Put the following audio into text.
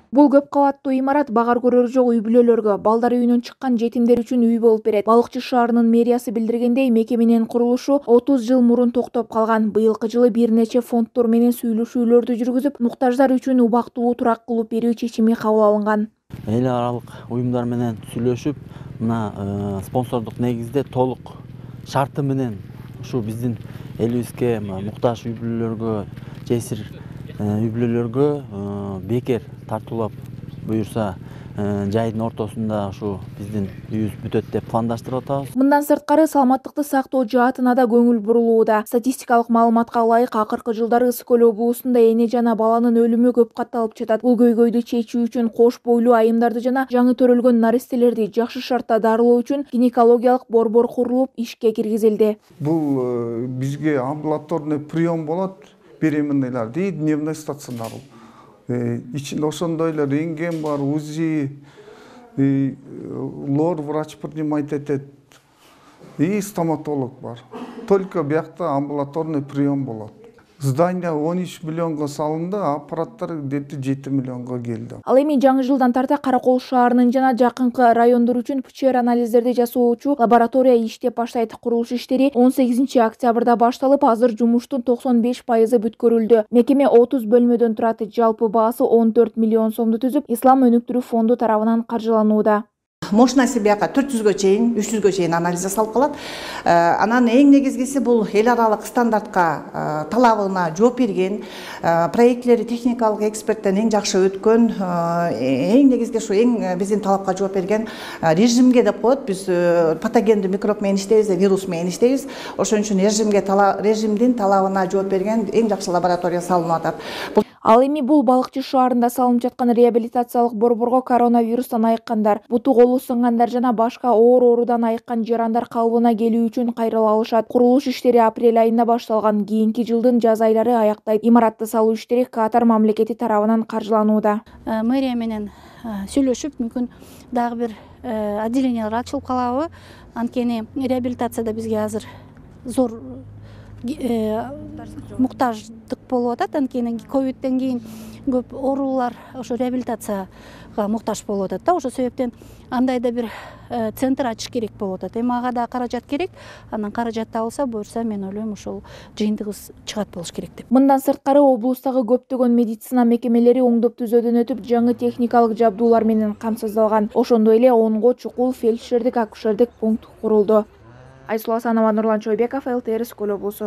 Бул көп кабаттуу имарат багар көрөрү жок үй-бүлөлөргө, балдар үйүнөн чыккан жетимдер үчүн үй болуп берет. Балыкчы шаарынын мэриясы билдиргендей, мекеменин курулушу 30 жыл мурун токтоп калган. Быйылкы жылы бир нече фонддор менен сүйлөшүүлөрдү жүргүзүп, муктаждар үчүн убактылуу турак кылып берүү чечими кабыл алынган. Эл аралык уюмдар менен сүйлөшүп, мына спонсордук негизде толук шарты менен ушу биздин элибизге муктаж үй-бүлөлөргө, жесир үй-бүлөлөргө бекер тартуулап буюрса жайдын ортосунда ушу биздин үйүбүз бүтөт деп пландаштырып атабыз. Мындан сырткары саламаттыкты сактоо жаатына да көңүл бурулууда. Статистикалык маалыматка ылайык, акыркы жылдары Ысык Көл облусунда эне жана баланын өлүмү көп катталып жатат. Бул көйгөйдү чечүү үчүн кош бойлуу айымдарды жана жаңы төрөлгөн наристелерди жакшы шартта дарылоо үчүн гинекологиялык борбор курулуп ишке киргизилди. Бул бизге амбулаторный прием болот, беременныйларды и дневной стационар. Ичинде ошондой эле рентген бар, УЗИ, лор врач принимать этет и стоматолог бар. Только биякта амбулаторный прием болот. Здание 13 миллионго салынды, аппараттар где-то 7 миллионго келди. Ал эми жаңы жылдан тарта Каракол шаарынын жана жакынкы райондор үчүн ПЧР анализдерди жасоочу лаборатория иштеп баштайт. Курулуш иштери 18 октябрда башталып, азыр жумуштун 95% бүткөрүлдү. Мекеме 30 бөлмөдөн турат. Жалпы баасы 14 миллион сомду түзүп, Ислам өнүктүрүү фонду тарабынан каржыланууда. Мощности бияка 400гө чейин, 300гө чейин анализ жасалып калат. Анан эң негизгиси бул эл аралык стандартка талабына жооп берген, проектлери техникалык эксперттен эң жакшы өткөн, эң негизги ушу эң биздин талапка жооп берген режимге деп коет. Биз патогендүү микроб менен иштейбиз, вирус менен иштейбиз. Ошон үчүн режимдин талабына жооп берген эң жакшы лаборатория салынып атат. Ал эми бул Балыкчы шаарында салынып жаткан реабилитациялык борборго коронавирустан айыккандар, буту колу сынгандар жана башка оор оорудан айыккан жарандар калыбына келүү үчүн кайрыла алышат. Курулуш иштери апрель айында башталган. Кийинки жылдын жаз айлары аяктайт. Имаратты салуу иштери Катар мамлекети тарабынан каржыланууда. Мэрия менен сүйлөшүп, мүмкүн дагы бир отделениялар ачылып калабы. Анткени реабилитацияда бизге азыр зор муктаждык болуп атат. Анткени ковидтен кийин көп оорулар ошо реабилитацияга муктаж болуп атат да. Ошол себептен андай да бир центр ачыш керек болуп атат. Эми ага да каражат керек. Анан каражат табылса, буюрса мен ойлойм ушул жыйынтыгыбыз чыгат болуш керек деп. Мындан сырткары облустагы көптөгөн медицина мекемелери оңдоп түзөөдөн өтүп, жаңы техникалык жабдуулар менен камсыздалган. Ошондой эле 10го чукул фельдшердик акушердик пункт курулду. Айсулу Асанова, Нурлан Чойбеков, ЛТР, Ысык Көл облусу.